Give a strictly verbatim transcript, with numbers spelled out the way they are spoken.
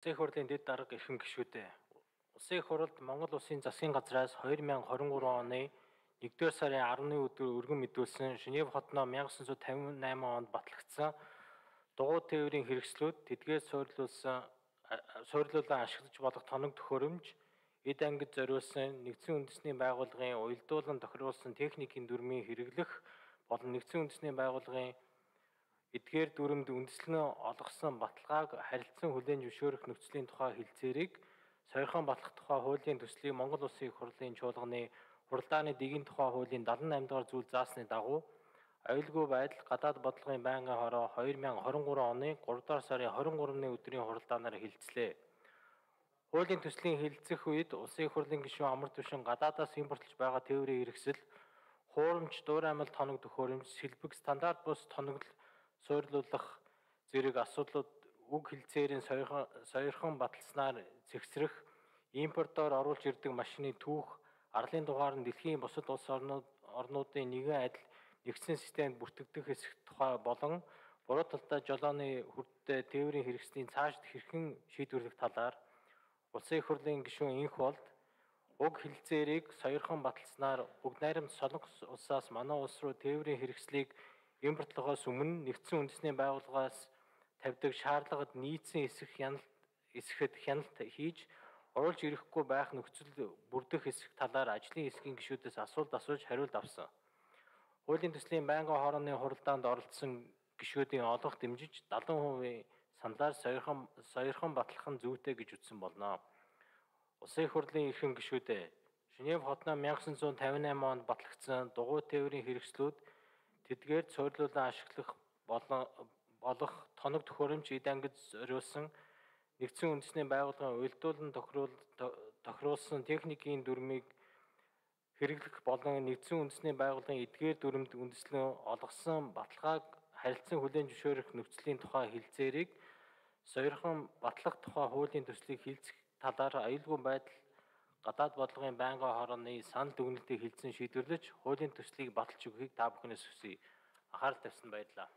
Улсын их хурлын дэд дарга эрхэм гишүүдээ. Улсын их хурлд Монгол Улсын засгийн газраас хоёр мянга хорин гурван оны нэгдүгээр сарын арваны өдөр өргөн мэдүүлсэн Женев хотноо мянга девятьсот пятьдесят восемь онд батлагдсан дугуй тээврийн хэрэгслүүд тэдгээр суурилуулсан суурилуулан ашиглаж болох тоног төхөөрөмж эд ангид зориулсан нэгдсэн үндэсний байгууллагын уялдуулан тохируулсан техникийн дүрмийн хэрэглэх болон нэгдсэн үндэсний байгууллагын эдгээр дүрмд үндэслэн олгосон баталгааг харилцан хүлээн зөвшөөрөх нөхцөлийн тухай хэлцээрийг сойрхон батлах тухай хуулийн төслийг Монгол Улсын их хурлын чуулганы хуралдааны дэгийн тухай хуулийн дадлан и дугаар зүйл заасны дагуу аюулгүй байдал гадаад бодлогын байнгын хороо хоёр мянга хорин гурван оны гурав дугаар сарын хорин гуравны өдрийн хуралдаанаар хэлцлээ. Хуулийн төслийн хэлэлцэх үед Улсын их хурлын гишүүн Амар Түвшин гадаадаас импортлж байгаа тээврийн хэрэгсэл, хуурамч, дуураймал тоног төхөөрөмж, сэлбэг, стандарт бус тоног суурилуулах зэрэг асуудлууд уг хэлцээрийн сойрхон баталснаар зэгсрэх, импортоор оруулж ирдэг машины түүх, арлын дугаар нь дэлхийн бусад улс орнууд орнуудын нэгэн адил нэгдсэн системд бүртгэгдэх хэсэг тухай болон буруу талдаа жолооны хүртээ тээврийн хэрэгслийн цаашд хэрхэн шийдвэрлэх талаар Улсын их хурлын гишүүн инх болд уг хэлцээрийг сойрхон баталснаар бүгд найрамд Солонгос улсаас манай улс руу тээврийн хэрэгслийг импортлохоос өмнө нэгдсэн үндэсний байгууллагаас тавьдаг шаардлагад нийцсэн эсэх хяналт эсэхэд хяналт хийж оруулж ирэхгүй байх нөхцөл бүрдэх хэсэг талаар ажлын хэсгийн гишүүдээс асуулт асууж хариулт авсан. Хуулийн төслийн байнгын хорооны хуралдаанд оролцсон гишүүдийн олонх дэмжиж дадлан хувийн саналаар сойрхон сойрхон батлах нь зүйтэй гэж үзсэн болно. Улсын их хурлын эрхэм гишүүдээ Женев хотноо мянга девятьсот пятьдесят восемь онд батлагдсан дугуй тээврийн хэрэгслүүд тэдгээр суурилуулан ашиглах болон болох тоног төхөөрөмж эд ангид зориулсан нэгдсэн үндэсний байгууллагын уялдуулан тохируулсан техникийн дүрмийг хэрэглэх болон нэгдсэн үндэсний байгууллагын эдгээр дүрмд үндэслэн олгосон баталгааг харилцан хүлээн зөвшөөрөх нөхцөлийн тухай хэлцээрийг сойрхон батлах тухай хуулийн төслийг хэлцэх талаар аюулгүй байдал гадаад бодлогын байнгын хорооны санал дүгнэлтийг хэлцэн шийдвэрлэж хуулийн төслийг баталж өгөхийг та бүхнээс хүсье. Анхаарал тавьсан баярлалаа.